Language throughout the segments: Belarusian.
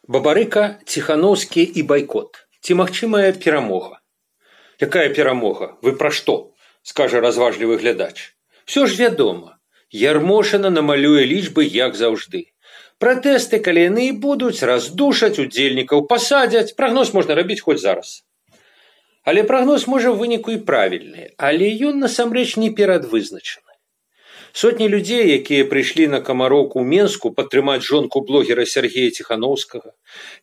Бабарыка, Ціханаўскі і байкот. Ці магчымая перамога? Якая перамога? Вы пра што? Скажа разважлівы глядач. Всё ж вядома. Ярмошына намалюе лічбы, як заўжды. Пратэсты, калі яны і будуць, раздушаць, удзельнікаў пасадзяць. Прагноз можна рабіць хоць зараз. Але прагноз можа ў выніку і правільны, але ён насамрэч не перадвызначаны. Сотні людзей, якія прыйшлі на камароўку ў Менску падтрымаць жонку блогера Сергея Ціханаўскага,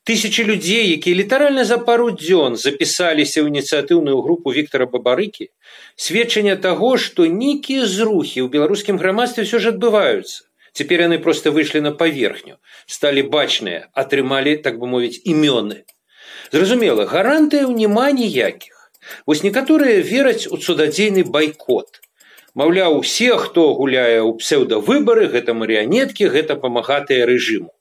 тысячы людзей, якія літаральна за пару дзён запісаліся ў ініцыятыўную групу Віктара Бабарыкі, сведчанне таго, што нейкія зрухі ў беларускім грамадстве ўсё ж адбываюцца. Цяпер яны проста выйшлі на паверхню, сталі бачныя, атрымалі, так бы мовіць, імёны. Зразумела, гарантыяў няма ніякіх. Вось некаторыя вераць у цудадзейны байкот. Маўляў, усе, хто гуляе ў псеўдавыбары, гэта марыянеткі, гэта памагатыя рэжыму.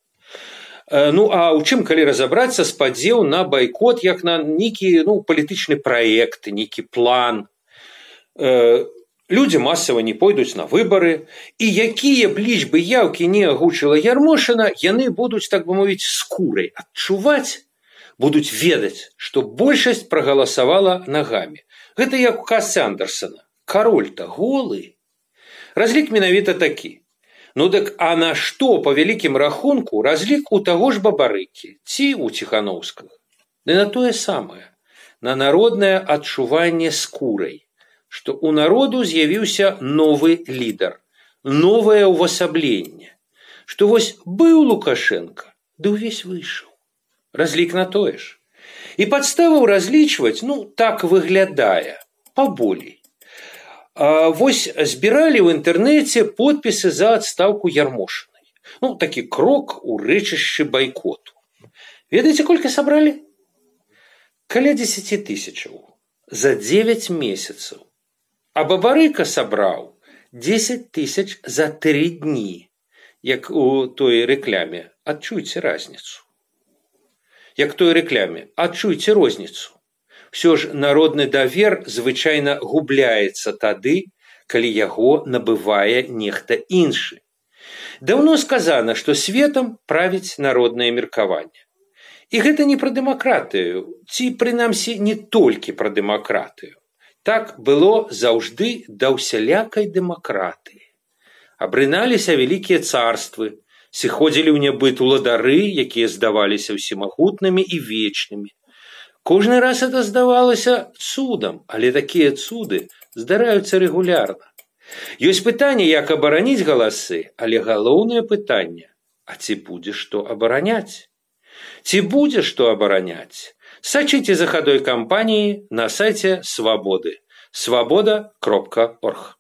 Ну, а ў чым, калі разабрацца, спадзеў на байкот, як на нейкі палітычны праект, нейкі план. Людзі масава не пойдуць на выбары, і якія б лічбы яўкі не агучыла Ярмошына, яны будуць, так бы мовіць, скурай адчуваць, будуць ведаць, што большасць прагаласавала нагамі. Гэта як у казцы Андерсена. Кароль-то голы. Разлік менавіта такі. Ну так, а на што, па вялікім рахунку, разлік у таго ж Бабарыкі, ці у Ціханаўскага? Ды на тое самае, на народнае адчуванне скурай, што ў народу з'явіўся новы лідар, новае ўвасабленне, што вось быў Лукашенко, ды ўвесь выйшаў. Разлік на тое ж. І падставаў разлічваць, так выглядае, паболей. Вось збіралі ў інтэрнэце подпісы за адстаўку Ярмошынай. Такі крок у рэчышчы байкоту. Ведаеце, колькі сабралі? Каля 10 000 за 9 месяцаў. А Бабарыка сабраў 10 000 за 3 дні. Як у той рэкляме. Адчуйце разніцу. Як той рэкляме. Адчуйце розніцу. Всё ж народны давер звычайна губляецца тады, калі яго набывае нехта іншы. Даўно сказана, што светам правіць народнае меркаванне. І гэта не пра дэмакратыю, ці прынамсі не толькі пра дэмакратыю. Так было заўжды да ўсялякай дэмакратыі. Абрыналіся вялікія царствы, сыходзілі ў нябыт уладары, якія здаваліся ўсемагутнымі і вечнымі. Кожны раз это здавалася цудам, але такія цуды здараюцца рэгулярна. Ёсць пытанне, як абараніць галасы, але галоўнае пытанне, а ці будзе што абараняць? Ці будзе што абараняць? Сачыце за хадой кампаніі на сайце Свабоды. Свабода.орг.